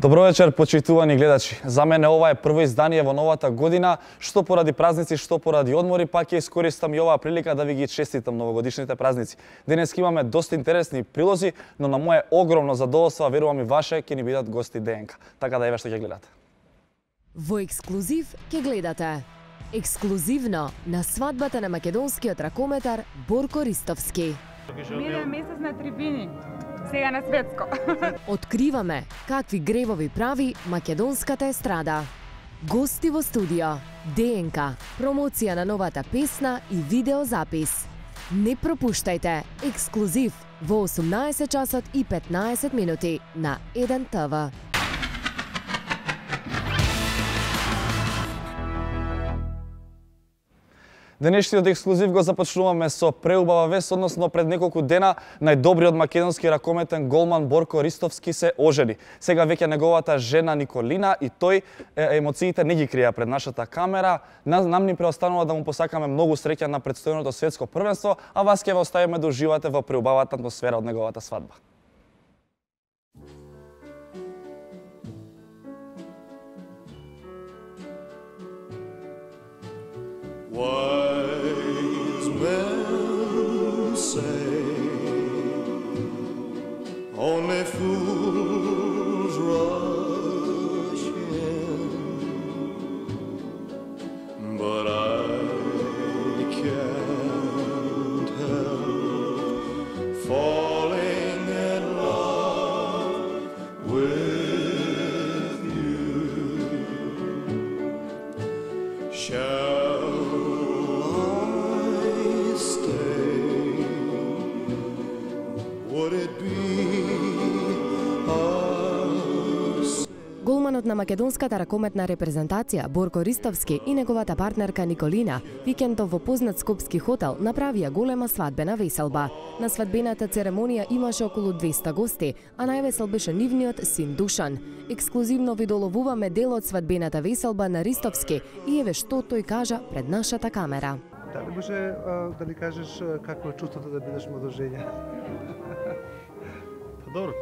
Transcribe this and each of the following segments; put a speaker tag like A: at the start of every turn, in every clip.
A: Добро вечер, почитувани гледачи. За мене ова е прво издание во новата година, што поради празници, што поради одмори, пак ќе искористам и оваа прилика да ви ги честитам новогодишните празници. Денес имаме доста интересни прилози, но на мое огромно задоволство, верувам и ваше, ќе ни бидат гости ДНК. Така да еве што ќе гледате.
B: Во ексклузив ќе гледате. Ексклузивно на свадбата на македонскиот ракометар Борко Ристовски.
C: Минен месец на трибини. Сега на светско.
B: Откриваме какви гревови прави македонската естрада. Гости во студио, ДНК, промоција на новата песна и видеозапис. Не пропуштајте ексклузив во 18 часот и 15 минути на 1 ТВ.
A: Денешниот ексклузив го започнуваме со преубава вест, односно пред неколку дена најдобриот македонски ракометен голман Борко Ристовски се ожени. Сега веќе неговата жена Николина и тој емоциите не ги крија пред нашата камера. Нам ни преостанува да му посакаме многу среќа на претстојното светско првенство, а вас ќе ве оставиме да уживате во преубавата атмосфера од неговата свадба.
D: Wise men say only fools rush in, but I can't help falling in love with you.
B: Голманот на македонската ракометна репрезентација Борко Ристовски и неговата партнерка Николина викендов во познат скопски хотел направија голема свадбена веселба. На свадбената церемонија имаше околу 200 гости, а највесел беше нивниот син Душан. Ексклузивно ви доловуваме дел од свадбената веселба на Ристовски и еве што тој кажа пред нашата камера.
E: Дали може да ни кажеш какво е чувството да бидеш младожења?
F: Добро,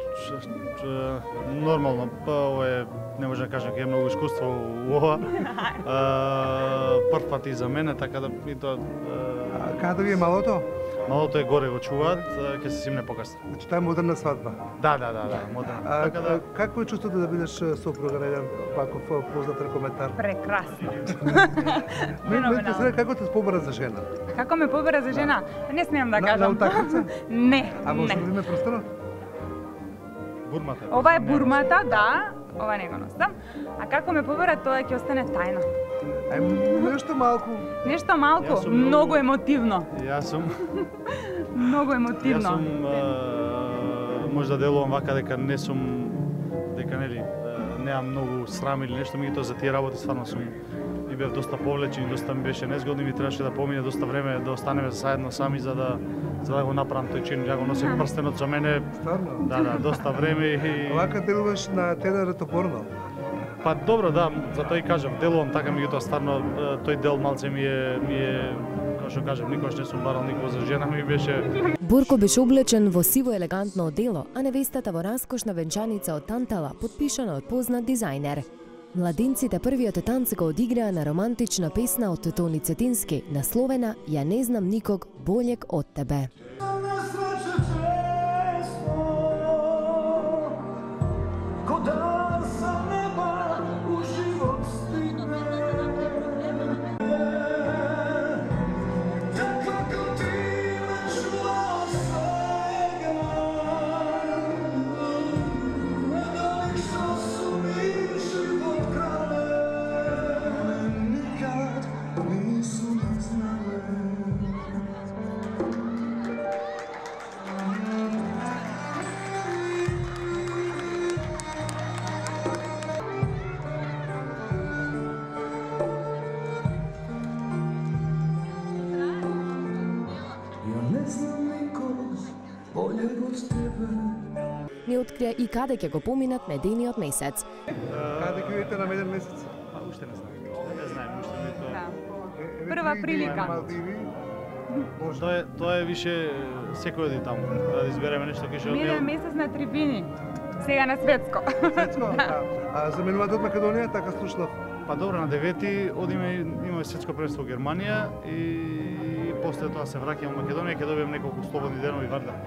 F: нормално, ова е, не може да кажам, ќе е многу искуство у ова. Прв пат и за мене, така да и тоа...
E: Каде да ви е малото?
F: Малото е горе го чуваат, ќе се симне покасно.
E: Значи тоа е модерна свадба?
F: Да, модерна.
E: Така да... Какво е чувството да бидеш сопруга на еден ваков познат ракометар?
C: Прекрасно.
E: Ме сега како те побара за жена?
C: Како ме побара за жена? Не смеам да кажам.
E: На утакмица?
C: Не.
E: А може да име просторно?
F: Бурмата.
C: Ова е бурмата, да. Ова не го носам. А како ме побара, тоа ќе остане тајна.
E: Нешто малку.
C: Нешто малку, многу емотивно.
F: Јас сум...
C: Многу емотивно.
F: Јас сум... може да делувам вака дека не сум... дека нели... неам многу срам или нешто, меѓутоа за тие работи стварно сум... и бев доста повлечен и доста ми беше незгодно и ми требаше да помине доста време да останеме заедно сами за да го направам тој чин. Ја го носев прстенот со мене.
E: Стварно?
F: Да, доста време и...
E: Вака делуваш на тенор топорно?
F: Па добро, да, затоа и кажам, делувам така, меѓутоа стварно тој дел малце ми е како што кажам, никогаш не сум барал никого за жена, ми беше...
B: Борко беше облечен во сиво елегантно одело, а невестата во раскошна венчаница од тантала, подпишана од познат дизајнер. Младинците првиот танц го одиграа на романтична песна од Тони Цетински, насловена "Ја не знам никог болег од тебе". Ни открија и каде ќе го поминат медениот месец.
E: Каде ќе видите на меден месец?
F: Уште не знам. Не знаем, уште не тоа.
C: Прва прилика.
F: Тоа е више секој оди таму, да избереме нешто кеше од
C: Минен месец на трибини. Сега на светско.
E: Светско? Да. А заменувате од Македонија, така слушнав.
F: Па добро, на 9-ти одиме, имаме светско првенство во Германија и после тоа се враќаме во Македонија, ќе добиеме неколку слободни денови варда.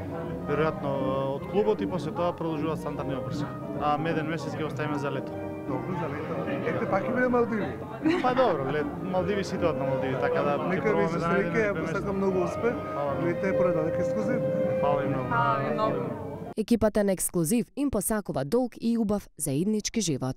F: Веројатно од клубот и после тоа продолжуваат стандардни обрси. А меден месец ќе оставиме за лето.
E: Добро, за лето. Екте пак ќе биде Малдиви.
F: Па добро, Малдиви си доат на Малдиви, така да
E: Нека ви се среќа, ја посакам многу успех. Видите поредадок ексклузив.
F: Фала ви многу.
C: Фала ви многу.
B: Екипата на Ексклузив им посакува долг и убав заеднички живот.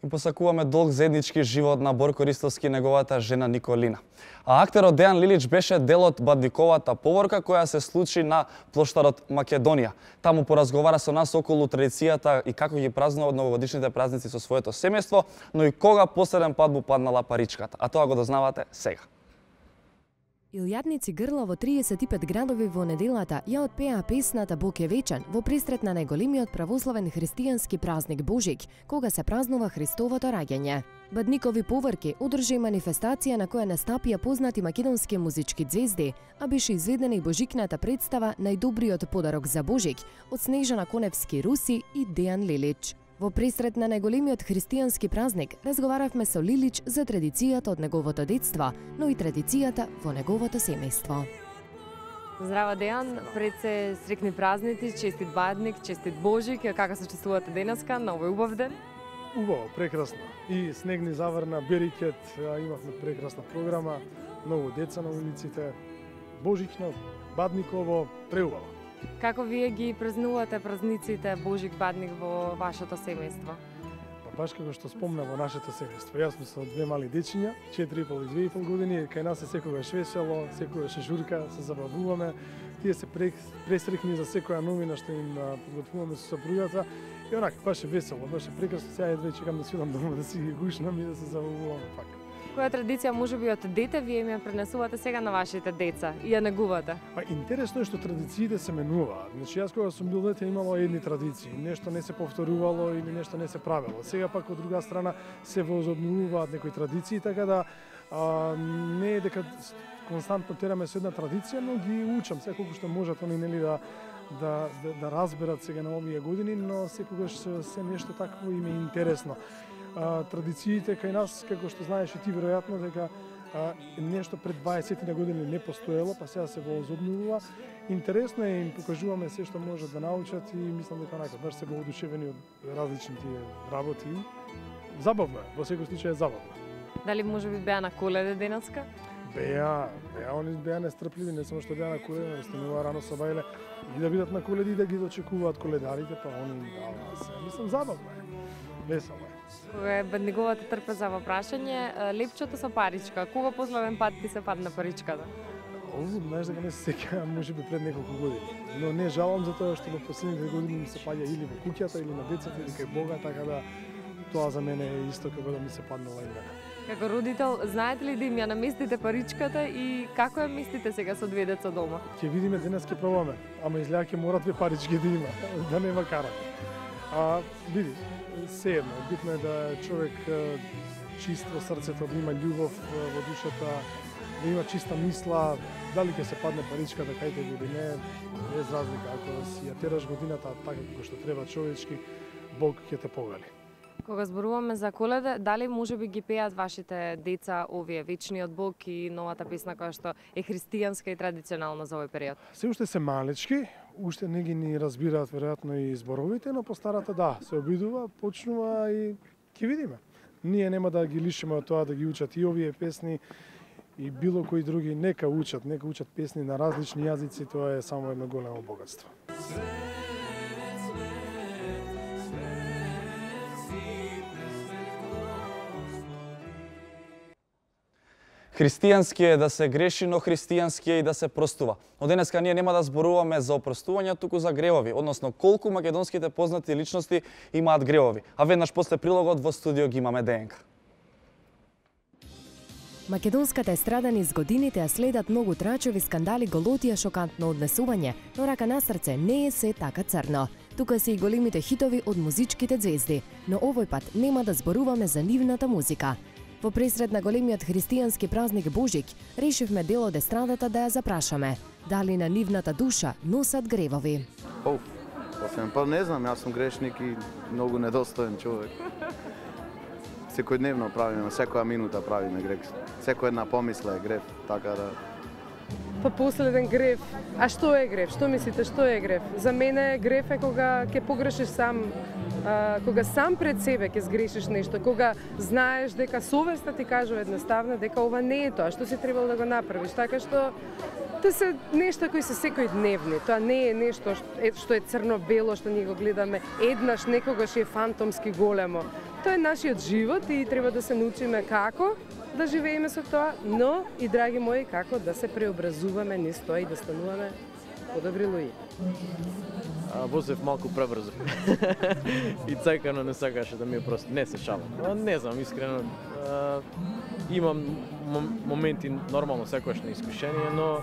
A: Им посакуваме долг заеднички живот на Борко Ристовски и неговата жена Николина. А актерот Дејан Лилич беше дел од бадниковата поворка која се случи на плоштадот Македонија. Таму поразговара со нас околу традицијата и како ги празнуваат новогодишните празници со своето семејство, но и кога последен пат му паднала паричката. А тоа го дознавате сега.
B: Илјадници грла во 35 градови во неделата ја отпеа песната Бог е вечен во пресрет на најголемиот православен христијански празник Божик, кога се празнува Христовото раѓање. Бадникови поворки одржи манифестација на која настапија познати македонски музички ѕвезди, а беше изведена и божикната представа Најдобриот подарок за Божик од Снежана Коневски Руси и Дејан Лилич. Во пресрет на најголемиот христијански празник разговаравме со Лилич за традицијата од неговото детство, но и традицијата во неговото семејство.
G: Здраво Дејан, пред се срекни празници, честит бадник, честит Божик, како се чувствувате денеска на овој убав ден?
H: Убаво, прекрасно. И снег ни заврна, берикет, имавме прекрасна програма, многу деца на улиците, Божично, бадниково, преубаво.
G: Како вие ги празнувате празниците Божик бадник во вашето семејство?
H: Баш како што спомна во нашето семејство. Јас сум со две мали дечиња, 4,5 и 2,5 години, кај нас е секогаш весело, секогаш е журка, се забавуваме. Тие се пресрекни за секоја новина што им подготвуваме со сопругата. И онака, баш е весело, баш е прекрасно. Сега едва чекам да свидам дома да си ги гушнам и да се забавувам пак.
G: Која традиција можеби од дете вие ми ја пренесувате сега на вашите деца и ја негувате?
H: Па интересно е што традициите се менуваат. Значи јас кога сум бил дете имало едни традиции, нешто не се повторувало или нешто не се правело. Сега пак од друга страна се возобновуваат некои традиции, така да не е дека константно тераме со една традиција, но ги учам секогаш што можат они нели да разберат сега на овие години, но секогаш се нешто такво им е интересно. Традициите кај нас, како што знаеш и ти веројатно, дека нешто пред 20 на години не постоело, па сега се возобновува. Интересно е, им покажуваме се што можат да научат и мислам дека онака баш се воодушевени од различните работи. Забавно е, во секој случај е забавно.
G: Дали можеби беа на Коледа денеска?
H: Беа, они беа нестрпливи, не само што беа на Коледа, но станува рано со бајле и да бидат на Коледи и да ги дочекуваат коледарите, па они се. Мислам забавно е, весело е.
G: Кога е бадниковата трпеза во прашање, лепчото со паричка, кога последен пат ти се падна паричката?
H: Знаеш дека не се сеќавам, можеби пред неколку години. Но не жалам за тоа што во последните години ми се паѓа или во куќата, или на децата, или кај Бога, така да тоа за мене е исто како да ми се паднала и мене.
G: Како родител, знаете ли да им ја наместите паричката и како ја местите сега со две деца дома?
H: Ќе видиме, денес ќе пробаме, ама изгледа ќе мора две парички да има, да нема карате. Види, се едно, битно е да човек чист во срцето, да има љубов во душата, да има чиста мисла, дали ќе се падне паричката кај тебе или не, без разлика, ако си ја тераш годината така како што треба човечки, Бог ќе те погали.
G: Кога зборуваме за Коледа, дали можеби ги пеат вашите деца овие Вечниот Бог и новата песна која што е христијанска и традиционална за овој период?
H: Се уште се малечки, уште не ги ни разбираат веројатно и зборовите, но постарата да, се обидува, почнува и ќе видиме. Ние нема да ги лишиме од тоа да ги учат и овие песни и било кои други, нека учат песни на различни јазици, тоа е само едно големо богатство.
A: Христијански е да се греши, но христијански е и да се простува. Но денеска ние нема да зборуваме за опростување, туку за гревови, односно колку македонските познати личности имаат гревови. А веднаш после прилогот во студио ги имаме ДНК.
B: Македонската естрада низ годините ја следат многу трачови скандали, голотија, шокантно однесување, но рака на срце не е се така црно. Тука се и големите хитови од музичките звезди, но овој пат нема да зборуваме за нивната музика. Во пресред на големиот христијански празник Божик, решивме дел од естрадата да ја запрашаме. Дали на нивната душа носат гревови?
I: Па не знам, јас сум грешник и многу недостоен човек. Секојдневно правиме, секоја минута правиме грев. Секоја една помисла е грев, така да...
J: Па последен грев. А што е грев? Што мислите, што е грев? За мене грев е кога ќе погрешиш сам, кога сам пред себе ќе сгрешиш нешто, кога знаеш дека совеста ти кажува едноставно дека ова не е тоа што си требал да го направиш, така што тоа се нешта кои се секојдневни. Тоа не е нешто што е црно-бело, што ние го гледаме еднаш, некогаш е фантомски големо. Тоа е нашиот живот и треба да се научиме како да живееме со тоа, но и, драги мои, како да се преобразуваме низ тоа и да стануваме подобри луѓе.
K: Возев малку пребрзо. И цајкано не сакаше да ми е просто. Не се шалам. Не знам, искрено. Имам моменти нормално секојаш на искушение, но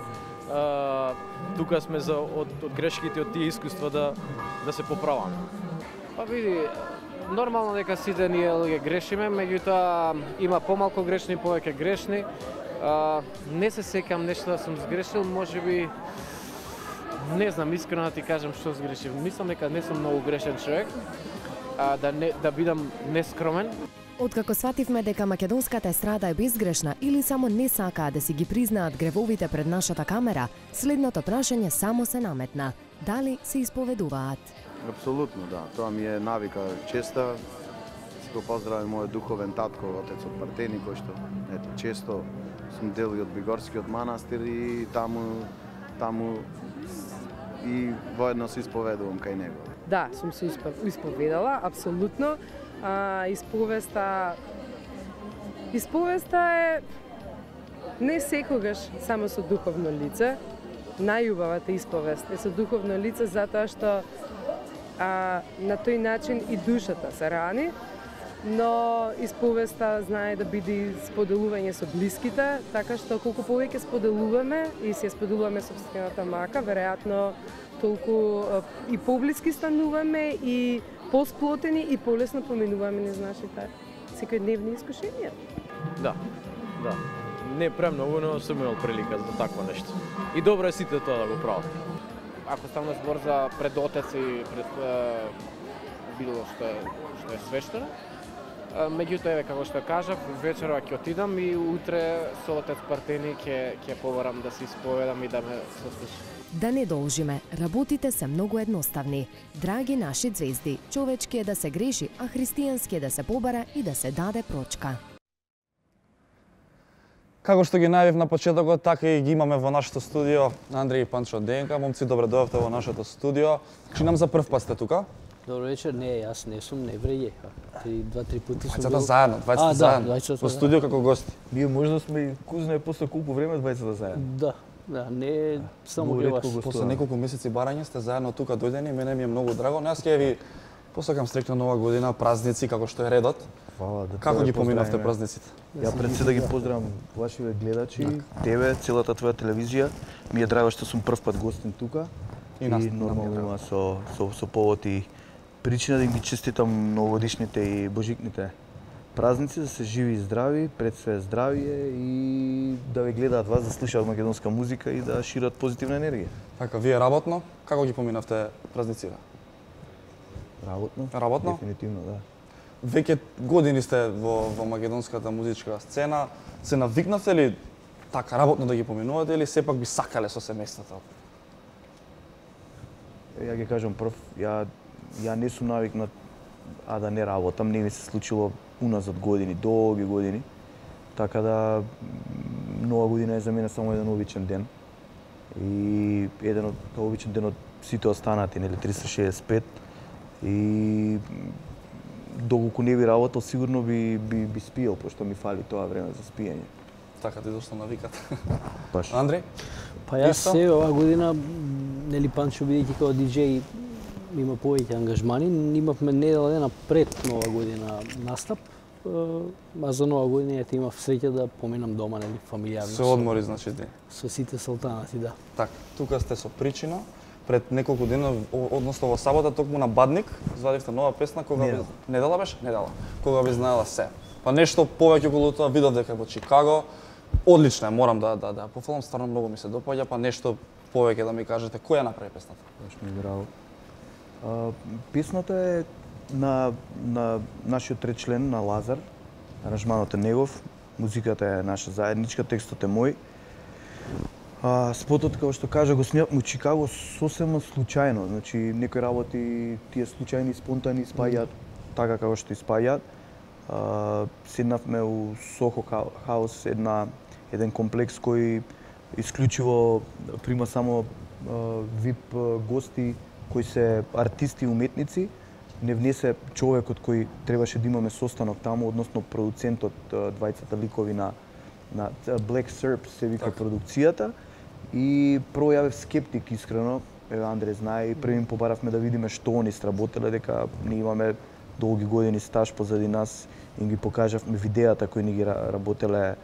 K: тука сме за од грешките, од тие искуства да се поправаме.
L: Па види, нормално дека сите ние луѓе грешиме, меѓутоа има помалку грешни, повеќе грешни. Не се сеќам нешто да сум сгрешил, можеби не знам, искрено да ти кажам што сгрешив. Мислам дека не сум многу грешен човек, да бидам нескромен.
B: Откако свативме дека македонската естрада е безгрешна или само не сакаат да си ги признаат гревовите пред нашата камера, следното прашање само се наметна. Дали се исповедуваат?
I: Апсолутно, да. Тоа ми е навика честа. Си го поздравам мојот духовен татко, отецот Партени, кој што често сум дел и од Бигорскиот манастир и таму и воедно се исповедувам кај него.
J: Да, сум се исповедала, апсолутно. Исповеста е не секогаш само со духовно лице. Најубавата исповест е со духовно лице затоа што на тој начин и душата се рани, но исповеста знае да биде споделување со блиските, така што колку повеќе споделуваме и се споделуваме собствената мака, веројатно толку и поблиски стануваме и посплотени и полесно поминуваме низ нашите секојдневни искушенија.
K: Да. Не премногу, но сум имал прилика за такво нешто. И добро е сите тоа да го прават.
L: Ако ставаме збор за пред отец и пред било што е свештено, меѓутоа како што кажав, вечерва ќе отидам и утре со отец Партени ќе побарам да се исповедам и да ме сослуша.
B: Да не должиме, работите се многу едноставни. Драги наши звезди, човечки е да се греши, а христијански е да се побара и да се даде прочка.
A: Како што ги најавив на почетокот, така и ги имаме во нашето студио Андреј и Панчо ДНК. Момци, добре дојавте во нашето студио. Чи нам за прв пат сте тука?
M: Добро вечер, не, јас не сум невреје. 2-3 пати сум
A: бил. Двајцата заедно. Во студио како гости.
N: Ние можда сме и кузне после колку време двајцата заедно.
M: Да, не само при вас.
A: После неколку месеци барање сте заедно тука дојдени, мене ми е многу драго. Јас ќе ви посакам среќна нова година, празници како што е редот. Како ги поминавте празниците?
N: Ја пред се да ги поздравам вашите гледачи, тебе, целата твоја телевизија. Ми е драго што сум прв пат гостин тука. И нормално има со повод и причина да им ги честитам новогодишните и божикните празници, да се живи и здрави, пред све здравие и да ве гледаат вас, да слушаат македонска музика и да шират позитивна енергија.
A: Така, вие работно, како ги поминавте празниците?
N: Работно? Дефинитивно, да.
A: Веќе години сте во македонската музичка сцена. Се навикнавте ли така работно да ги поминувате или сепак би сакале со семејството?
N: Ја ги кажам прв, ја не сум навикнат да не работам, не ми се случило уназад години, долги години. Така да нова година е за мене само еден обичен ден. И еден обичен ден од сите останати, нели 365. И доколку не би работел, сигурно би спиел, пошто ми фали тоа време за спиење.
A: Така ти дошла навикат.
N: Баш.
A: Андри?
M: Па јас се оваа година, нели Панчо бидејќи како диџеј има повеќе ангажмани, имавме недела дена пред нова година настап, а за нова година ете имав среќа да поминам дома, нели, фамилијарно.
A: Се одмори, значи ти.
M: Со сите салтанати, да.
A: Така, тука сте со Причина. Пред неколку дена, односно во сабота, токму на Бадник, извадивте нова песна, кога
N: Недела.
A: Недела беше? Недела. Кога би знаела се. Па нешто повеќе околу тоа видов дека во Чикаго. Одлично е, морам да пофалам, стварно многу ми се допаѓа, па нешто повеќе да ми кажете која направи песната.
N: Баш ми драго. Песната е на нашиот тречлен, на Лазар. Аранжманот е негов, музиката е наша заедничка, текстот е мој. Спотот, како што кажа, го снимавме во Чикаго сосема случајно. Значи, некои работи тие случајни, спонтани испаѓаат така како што испаѓаат. Седнавме у Сохо Хаус, еден комплекс кој исклучиво прима само VIP гости кои се артисти и уметници. Не внесе човекот кој требаше да имаме состанок таму, односно продуцентот, двајцата ликови на Black Serp се вика продукцијата. И прво јавев скептик, искрено, Андре знае, и први им побаравме да видиме што они сработеле, дека ние имаме долги години стаж позади нас, и ги покажавме видеата кои ни ги работеле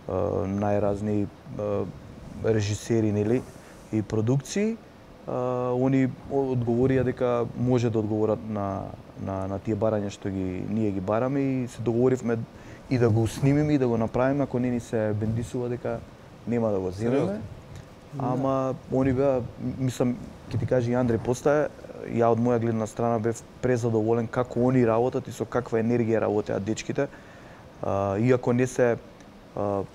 N: најразни режисери, нели, и продукции. Они одговорија дека може да одговорат на тие барања што ние ги бараме и се договоривме и да го снимиме и да го направиме, ако не ни се бендисува дека нема да го земеме. Ама они беа, мислам, ќе ти кажи Андре постае, ја од моја гледна страна бев презадоволен како они работат и со каква енергија работеат дечките. Иако не се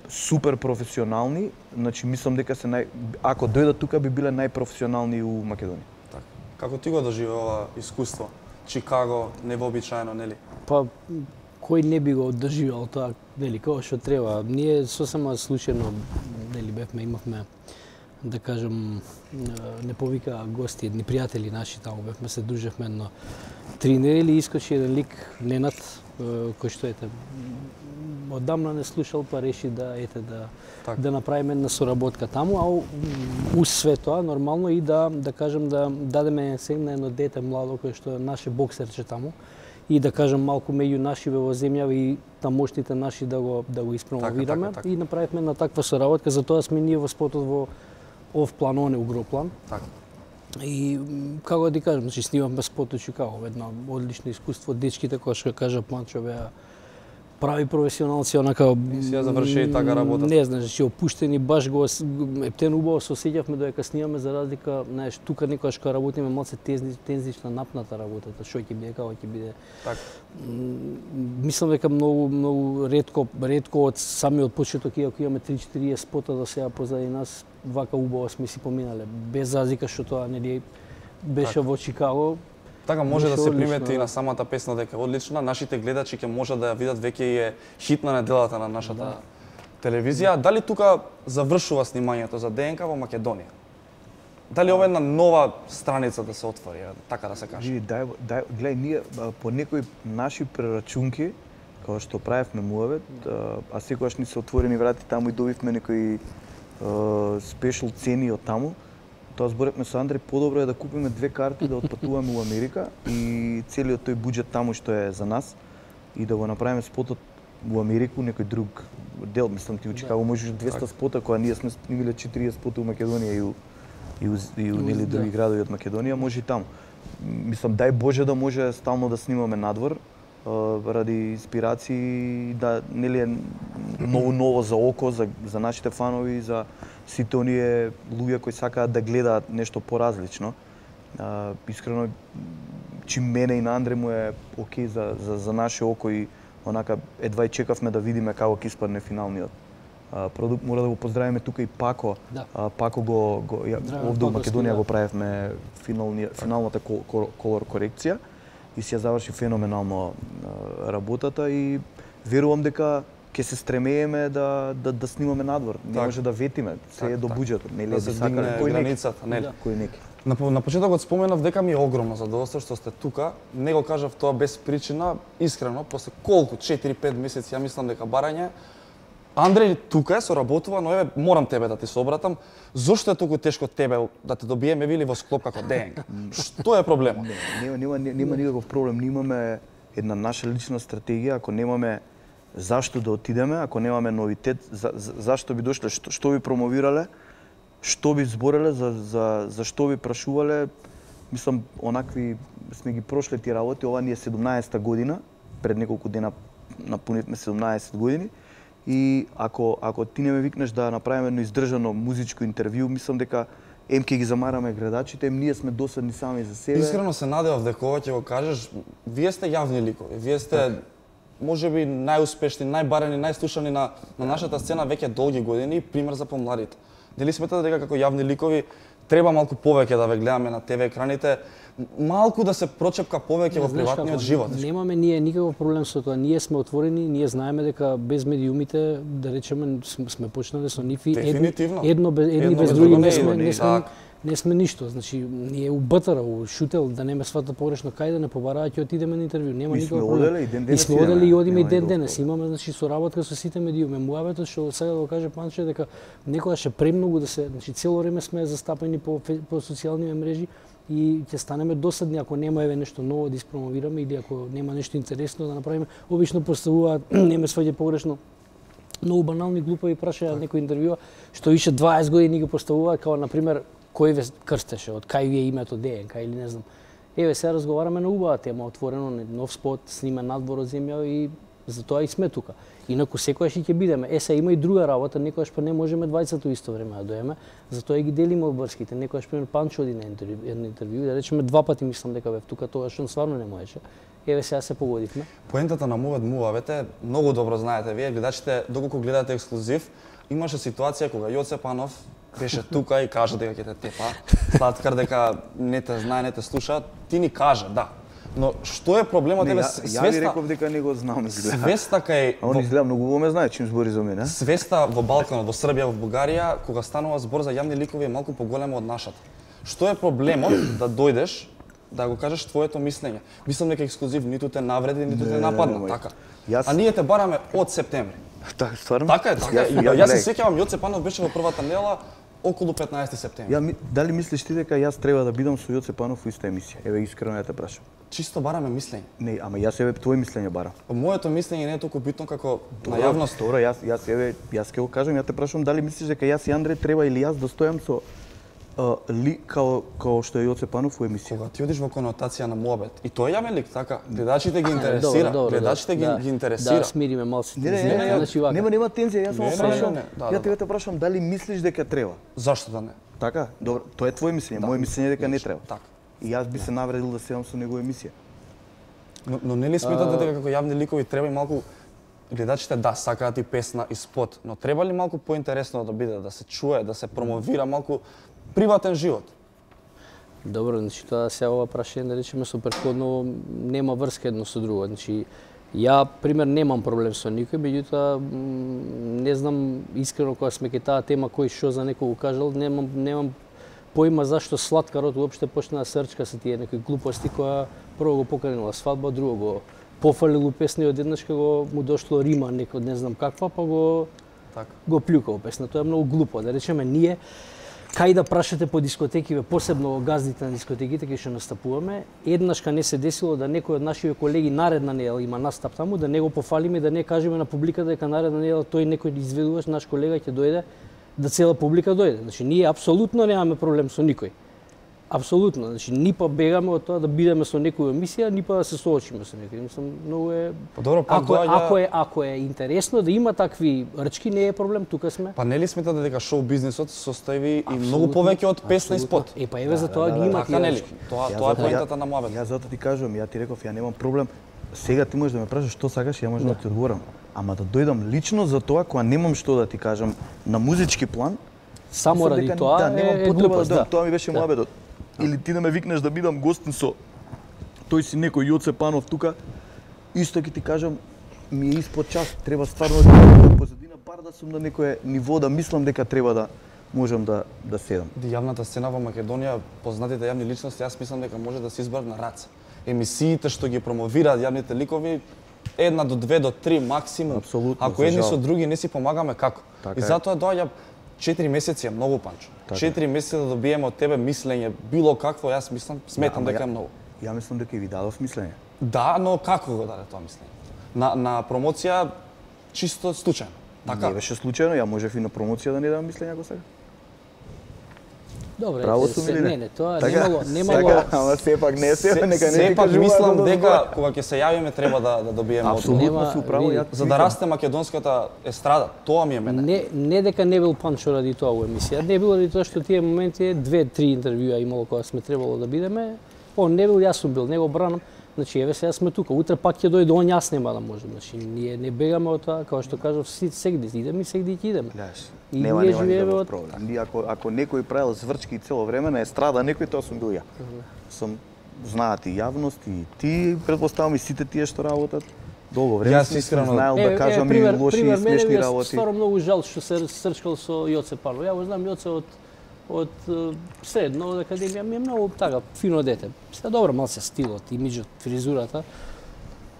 N: супер професионални, значи мислам дека се ако дојдат тука би биле најпрофесионални у Македонија.
A: Така. Како ти го доживеа искуство? Чикаго, невообичаено, нели?
M: Па кој не би го доживеал тоа, нели, како што треба. Ние сосема случајно, нели, имавме да кажем, не повика гости, едни пријатели наши таму, бевме се дружевме едно 3 недели, искочи еден лик, Ненат, кој што ете, одамна не слушал, па реши да направиме една соработка таму, а уз све тоа, нормално и да кажем, да дадеме сегна едно дете младо, кој што е наше боксерче таму, и да кажем малку меѓу нашиве во земја и тамошните наши да го испромовираме и направивме на таква соработка, затоа сме ние во спотот во ов план, он е угроплан.
A: Така.
M: И како да ти кажам, значи снимавме спот у Чикаго, едно одлично искуство, дечките кои што кажа Панчо беа прави професионалци, онака
A: си ја заврши така работа.
M: Не знаеш, значи опуштени, баш го ептен убаво се осеќавме додека снимаме, за разлика, знаеш, тука некогаш кога работиме малце тензична, напната работата, што ќе биде, како ќе биде.
A: Така.
M: Мислам дека многу ретко од самиот почеток, иако имаме 3-4 спота до сега позади нас, вака убаво сме си поминале, без разлика што тоа нели беше во Чикаго.
A: Така може да се примети и на самата песна дека е одлична. Нашите гледачи ќе можат да ја видат, веќе е хит на неделата на нашата телевизија. Дали тука завршува снимањето за ДНК во Македонија? Дали ова е една нова страница да се отвори, така да се каже?
N: Гледај, ние по некои наши прерачунки, како што правевме муавет, а секогаш ни се отворени врати таму и добивме некои спешл цени од таму. Тоа зборевме со Андре, подобро е да купиме 2 карти да отпатуваме во Америка и целиот тој буџет таму што е за нас и да го направиме спотот во Америку, некој друг дел, мислам ти у Чикаго можеш 200 спота, кога ние сме снимиле 40 спота у Македонија и у нели други градови од Македонија, може и таму. Мислам, дај Боже да може стално да снимаме надвор, ради инспирации, да нели е ново за око, за нашите фанови, за сите оние луѓе кои сакаат да гледаат нешто поразлично. Искрено, чим мене и на Андре му е окей за наше око и онака едва и чекавме да видиме како ќе испадне финалниот продукт. Мора да го поздравиме тука и Пако. Пако овде во Македонија го правевме финалната колор корекција и си ја заврши феноменално работата и верувам дека ќе се стремееме да снимаме надвор. Не може да ветиме, се е до буџетот, нели
A: да се дигне границата, нели?
N: Кој неки.
A: На почетокот споменав дека ми е огромно задоволство што сте тука. Не го кажав тоа без причина, искрено, после колку 4-5 месеци ја мислам дека барање Андреј тука е, соработува, но еве морам тебе да ти се обратам. Зошто е толку тешко тебе да те добиеме вили во склоп како ДНК? Што е проблемот?
N: Нема никаков проблем. Ние имаме една наша лична стратегија, ако немаме зашто да отидеме, ако немаме новитет, зашто би дошле, што би промовирале, што би збореле, за што би прашувале. Мислам, онакви сме ги прошли ти работи. Ова ни е 17-та година, пред неколку дена напунивме 17 години. И ако ти не ме викнеш да направиме едно издржано музичко интервју, мислам дека ке ги замараме гледачите, ние сме досадни сами за себе.
A: Искрено се надевав дека ова ќе го кажеш. Вие сте јавни ликови. Вие сте можеби најуспешни, најбарени, најслушани на нашата сцена веќе долги години, пример за помладите. Дали сметате дека како јавни ликови треба малку повеќе да ве гледаме на ТВ екраните, малку да се прочепка повеќе во приватниот живот?
M: Немаме ние никаков проблем со тоа. Ние сме отворени, ние знаеме дека без медиумите, да речеме, сме почнале со нив и едни без други не сме ништо. Значи, ние у БТР, у Шутел, да не ме свата погрешно, кај да не побараат ќе отидеме на интервју. Нема никаков проблем. И сме одели и одиме и ден денес. Имаме значи соработка со сите медиуми. Муабетот што сега да го каже Панче дека некогаш е премногу да се, значи цело време сме застапени по социјални мрежи и ќе станеме досадни ако нема еве нешто ново да испромовираме или ако нема нешто интересно да направиме. Обично поставуваат, не ме сваѓа погрешно, многу банални глупави прашања некој интервјуа што више 20 години ги поставуваат, како на пример кој ве крстеше, од кај ви е името ДНК или не знам. Еве сега разговараме на убава тема, отворено, нов спот, снимен надвор од земја и затоа и сме тука. Инаку секогаш ќе бидеме. Сега има и друга работа, некогаш па не можеме двајцата исто време да доеме, затоа и ги делиме обврските. Некогаш пример Панчо оди на интервју, да речеме 2 пати мислам дека бев тука, тогаш он стварно не можеше. Еве сега се погодивме.
A: Поентата на мувавете, многу добро знаете вие гледачите, доколку гледате ексклузив, имаше ситуација кога Јоце Панов беше тука и кажа дека ќе те тепа, Слаткар дека не те знае, не те слуша, ти ни кажа, да. Но што е проблемот еве свеста?
N: Ја ви реков дека не го знам изгледа.
A: Свеста кај
N: он изгледа многу во ме знае чим збори за мене.
A: Свеста во Балканот, во Србија, во Бугарија, кога станува збор за јавни ликови е малку поголема од нашата. Што е проблемот да дојдеш да го кажеш твоето мислење? Мислам дека ексклузив ниту те навреди, ниту те нападна, така. А ние те бараме од септември.
N: Така, стварно?
A: Така е, така е. Јас се сеќавам, Јоце Панов беше во првата недела околу 15 септември.
N: Дали мислиш ти дека јас треба да бидам со Јоце Панов во иста емисија? Еве искрено ја те прашам.
A: Чисто бараме мислење.
N: Не, ама јас еве твое мислење барам.
A: Моето мислење не е толку битно како на јавност.
N: Добро, јас ќе го кажам, ја те прашам дали мислиш дека јас и Андреј треба или јас да стојам со као што е Јоце Панов во емисија.
A: Кога ти одиш во конотација на муабет, и тој е јавен лик, така, гледачите ги интересира, гледачите ги интересира.
M: Да, смириме малку
N: тензија. Нема тензија, јас само прашам. Ја те прашам дали мислиш дека треба.
A: Зашто да не?
N: Така, добро, тоа е твое мислење, моје мислење дека не треба. Така. И јас би се навредил да седам со негова емисија.
A: Но нели сметате дека како јавни ликови треба и малку гледачите да сакаат и песна и спот, но треба ли малку поинтересно да биде, да се чуе, да се промовира малку приватен живот?
M: Добро, значи тоа сега ова прашање да речеме со претходно нема врска едно со друго. Значи ја пример немам проблем со никој, меѓутоа не знам искрено кога сме кај таа тема кој што за некој го кажал, немам поима зашто Слаткарот уопште почна да серчка со тие некои глупости која прво го поканила свадба, друго го пофалил песна и одеднаш кога му дошло рима некој не знам каква, па го плюкал песна. Тоа е многу глупо. Да речеме ние кај да прашате по дискотеки, посебно газдите на дискотеките кај што настапуваме, еднашка не се десило да некој од нашите колеги наредна недела има настап таму, да не го пофалиме, да не кажеме на публиката дека наредна недела тој некој изведуваш наш колега ќе дојде, да цела публика дојде. Значи ние апсолутно немаме проблем со никој. Апсолутно, значи ни па бегаме од тоа да бидеме со некоја емисија, ни па да се соочиме со некој. Мислам, многу е
A: Добро,
M: ако е интересно да има такви рчки, не е проблем, тука сме.
A: Па нели сметате дека шоу бизнисот состои и многу повеќе од песна и спот?
M: Па еве за тоа ги има тие рчки.
A: Тоа е поентата на муабет.
N: Јас затоа ти кажувам, ја ти реков, ја немам проблем. Сега ти можеш да ме прашаш што сакаш, ја можам да ти одговорам. Ама да дојдам лично за тоа кога немам што да ти кажам на музички план,
M: само ради тоа
N: немам потреба да тоа ми беше муабетот. Или ти да ме викнеш да бидам гостин со тој си некој Јоце Панов тука, исто ќе ти кажам, ми е испод час, треба стварно да позадина бар да сум на некое ниво да мислам дека треба да можам да седам.
A: Јавната сцена во Македонија, познатите јавни личности, јас мислам дека може да се избрат на раце. Емисиите што ги промовираат јавните ликови 1 до 2 до 3 максимум.
N: Апсолутно.
A: Ако едни со други не си помагаме, како? И затоа доаѓа 4 месеци е многу, Панчо. 4 месеци да добиеме од тебе мислење, било какво, јас сметам дека е многу.
N: Ја мислам дека ви дадов мислење.
A: Да, но како го даде тоа мислење? На промоција чисто случајно. Така?
N: Не беше случајно, ја можев и на промоција да не дадам мислење ако сега.
M: Добре,
N: право сум или
M: не, тоа
N: така,
M: немало.
N: Ама сепак не се, нека не
A: сепак мислам дека кога ќе се јавиме треба да добиеме
N: апсолутно су право,
A: за да расте македонската естрада, тоа ми е мене.
M: Не дека не бил Панчо ради тоа во емисија, не било ради тоа што тие моменти 2-3 интервјуа имало кога сме требало да бидеме. Не бил, јас сум бил, не го бранам. Значи, еве сега сме тука, утре пак ќе дојде он, јас нема да можам. Значи, ние не бегаме од тоа, како што кажав, сегде идеме и сегде ќе идеме.
N: И ние живееме од проблем. Ние ако некој правил зврчки цело време на естрада, некој тоа сум бил ја. Сум знаат и јавност и ти, претпоставам и сите тие што работат. Долго време
A: јас искрено
N: знаел да кажам и лоши и смешни работи.
M: Стварно многу жал што се срчкал со Јоце Парло. Ја го знам Јоце од средно, од академија, ми е многу така фино дете. Сега добро, малце стилот, имиџот, фризурата.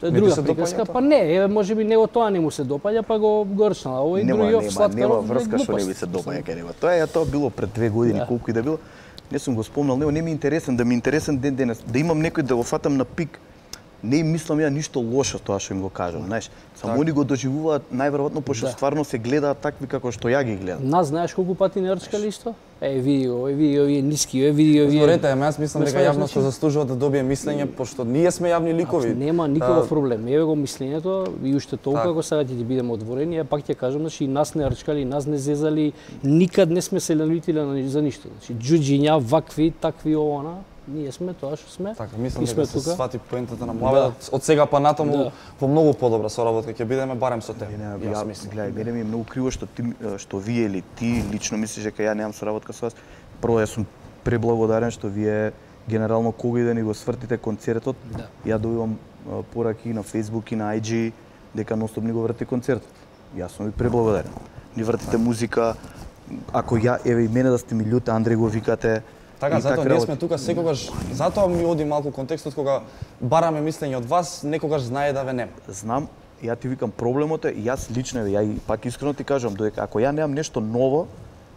M: Тоа е друга приказка, па не, можеби него тоа не му се допаѓа, па го горчнала. Овој другиот Слаткаров
N: нема врска што не би се допаѓа кај него. Тоа било пред 2 години, колку и да било. Не сум го спомнал, него не ми е интересен, да ми е интересен ден денес, да имам некој да го фатам на пик. Не им мислам ја ништо лошо тоа што им го кажам, знаеш. Само они го доживуваат најверојатно пошто стварно се гледаат такви како што ја ги гледам.
M: Нас знаеш колку пати не рчкали исто? Види овие ниски, види овие.
A: Зборете, јас мислам дека јавноста заслужува да добие мислење пошто ние сме јавни ликови.
M: Нема никаков проблем. Еве го мислењето и уште толку ако сега ќе бидеме отворени, ја пак ќе кажам, значи нас не рчкали, нас не зезали, никад не сме се налютили за ништо. Значи џуџиња, вакви, такви овона. Ние сме тоа што сме.
A: Така, мислам дека се свати поентата на муабетот. Од сега па натаму во многу подобра соработка ќе бидеме барем со тебе.
N: Јас мислам, гледај, мене ми е многу криво што вие или ти лично мислиш дека ја немам соработка со вас. Прво јас сум преблагодарен што вие генерално кога и да ни го свртите концертот. Ја добивам пораки на Facebook и на IG дека ностоп ни го врти концертот. Јас сум ви преблагодарен. Ни вртите музика. Ако ја еве и мене да сте ми љут, Андреј го викате.
A: Така, затоа ние сме тука секогаш, затоа ми оди малку контекстот кога бараме мислење од вас, некогаш знае да ве нема.
N: Знам, ја ти викам проблемот е, јас лично, ја и пак искрено ти кажам, додека ако ја немам нешто ново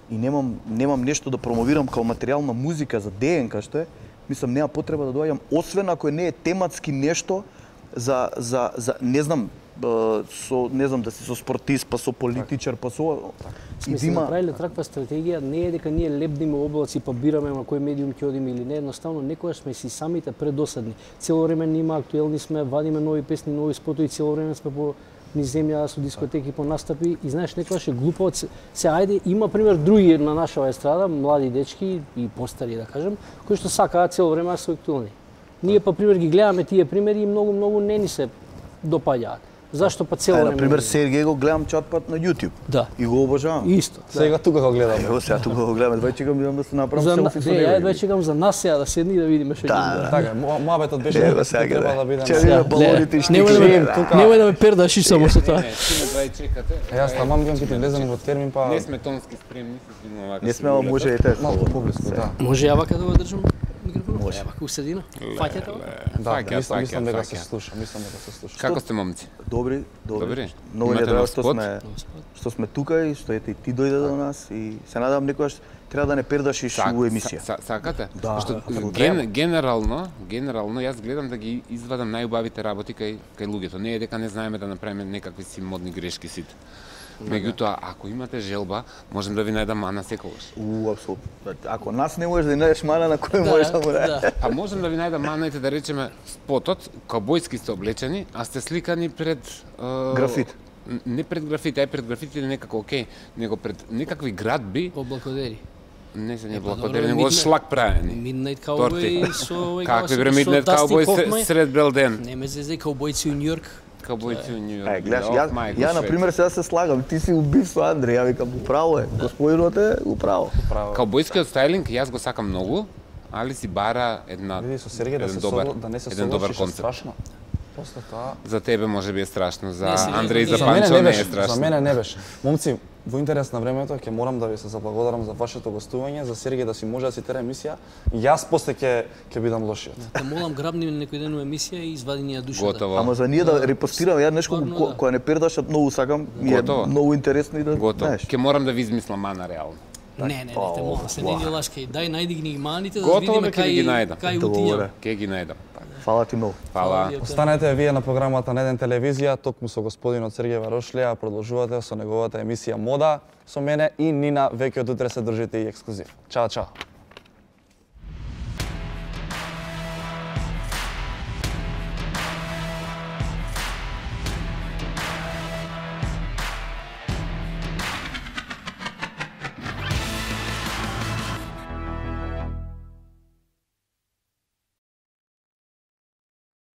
N: и немам нешто да промовирам као материјал на музика за ДНК што е, мислам нема потреба да доаѓам, освен ако не е тематски нешто за не знам, да си со спортист, па со политичар, па со
M: Сме се направиле таква стратегија, не е дека ние лебниме облаци па бираме на кој медиум ќе одиме или не, едноставно некогаш сме си самите предосадни. Цело време нема актуелни сме, вадиме нови песни, нови спотови, цело време сме по низ земја со дискотеки, по настапи и знаеш некогаш е глупо. Се ајде има пример други на нашава естрада, млади дечки и постари да кажем, кои што сакаат цело време да се актуелни. Ние па пример ги гледаме тие примери и многу не ни се допаѓаат. Зашто па цело време?
N: Например, Сергеј го гледам чатпат на YouTube.
M: Да.
N: И го обожавам.
M: Исто.
A: Сега тука го гледам.
N: Ево сега тука го гледам. Двај чекам да се направам селфи со него.
M: Ја едва чекам за нас сега да седни и да видиме што ќе
A: биде. Така, муабетот беше
N: дека треба
A: да биде.
N: Ќе балоните што
M: немој да ме пердаш и само со тоа.
A: Јас тамам бидам ќе влезам во термин па
O: не сме тонски спремни се видиме вака.
N: Не сме, ама може и те
A: малку поблиску, да.
M: Може ја вака да го држам микрофонот? Може вака у средина. Фаќате го?
A: Да, мислам дека се слуша,
O: Како сте момци?
N: Добри. Многу ни е драго што сме тука и што ете и ти дојде до нас и се надам некогаш треба да не пердашиш у емисија.
O: Сакате?
N: Да.
O: Што генерално јас гледам да ги извадам најубавите работи кај луѓето. Не е дека не знаеме да направиме некакви си модни грешки сите. Меѓутоа, ако имате желба, можем да ви најдам мана секогаш.
N: Апсолутно. Ако нас не можеш да најдеш мана, на кој можеш да му најдеш?
O: А можем да ви најдам мана и да речеме спотот, каубојски сте облечени, а сте сликани пред
N: графит.
O: Не пред графит, ај пред графит или некако окей, него пред некакви градби.
M: Облакодери.
O: Не се не блокодери, него шлак правени.
M: Midnight Cowboy со
O: какви бре Midnight Cowboy сред бел ден.
M: Не ме зезе каубојци у Њујорк.
O: Каубојци у Њујорк.
N: Гледаш, ја на пример сега се слагам, ти си убив со Андреј, ја викам управо е. Господинот е управо.
O: Каубојскиот стајлинг јас го сакам многу, али си бара
A: Види со Сергеј да не се согласиш страшно. После тоа
O: За тебе можеби е страшно, за
M: Не, сега
O: Андреј,
M: за
O: за
A: мене
O: Панчо не е
A: беше,
O: страшно.
A: за мене не беше. Момци, во интерес на времето ќе морам да ви се заблагодарам за вашето гостување, за Сергеј да си може да си тера емисија. Јас после ќе бидам лошиот.
M: Те молам грабни некој ден у емисија и извади ни ја душата.
O: Готово.
N: Ама за ние да репостирам, ја нешто која не пердаш, многу сакам, ми е
O: Готово.
N: многу интересно и да
O: Готово.
N: знаеш.
O: Ќе морам да ви измислам мана реално.
M: Не, те молам, се не ни лашкај. Дај најди ги маните да
O: Готово
M: видиме
O: бе, ќе ги најдам.
M: кај утињам.
O: Ќе ги најдам.
N: Фала ти многу.
O: Фала.
A: Останете вие на програмата на Еден телевизија, токму со господинот Сергеј Варошлија, продолжувате со неговата емисија Мода, со мене и Нина, веќе од утре се држите и ексклузив. Чао, чао.